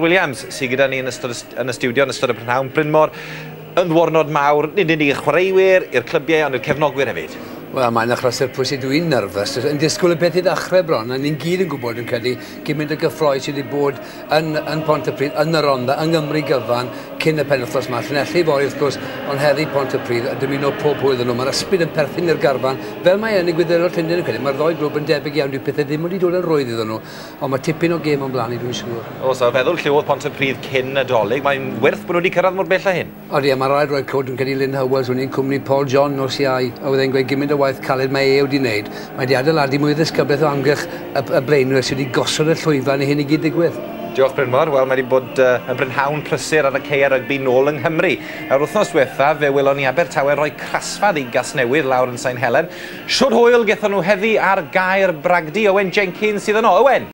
Williams sydd gyda ni yn ystod yn y stiwdio yn ystod y prynhawn. Brynmor, yn ddwrnod mawr, nid yn unig i'r chwaraewyr, i'r clybiau, ond i'r cefnogwyr hefyd. Wel, mae'n achlysur pwysig, dwi'n nerfus, yn disgwyl y peth i ddechrau bron, a ni'n gyd yn gwybod yn credu gymaint o gyffroi sydd wedi bod yn Pontypridd, yn y Rhondda, yng Nghymru gyfan, cyn y penwythnos yma. Llanelli fory wrth gwrs, ond heddi Pontypridd, a dymuno pob hwyl iddyn nhw. Mae'r ysbryd yn perthyn i'r garfan, fel mae yn y Gwyddelod Llundain yn credu. Mae'r ddou glwb yn debyg iawn, dyw pethau ddim wedi dod yn rhwydd iddyn nhw, ond mae tipyn o gêm o'n blaen ni, dwi'n siŵr. O, so feddwl lle oedd Pontypridd cyn y Dolig, mae'n werth bod nhw wedi cyrraedd mor bell â hyn. Odi, a mae rhaid rhoi clod yn credu Lynn Howells, o'n i'n cwmni Paul John nos Iau, a oedd e'n gweud gymaint o waith caled mae e wedi wneud. Mae wedi adeiladu mwy o ddisgyblaeth o amgylch y blaenwyr sydd wedi gosod y llwyfan i hyn i gyd ddigwydd. Diolch, Brynmor. Wel, mae wedi bod yn brynhawn prysur ar y caeau rygbi nôl yng Nghymru. Yr wythnos diwetha, fe welon ni Abertawe roi crasfa i Gasnewydd lawr yn Sain Helen. Shwd hwyl gethon nhw heddi ar Gae'r Bragdy? Owen Jenkins sydd yno. Owen!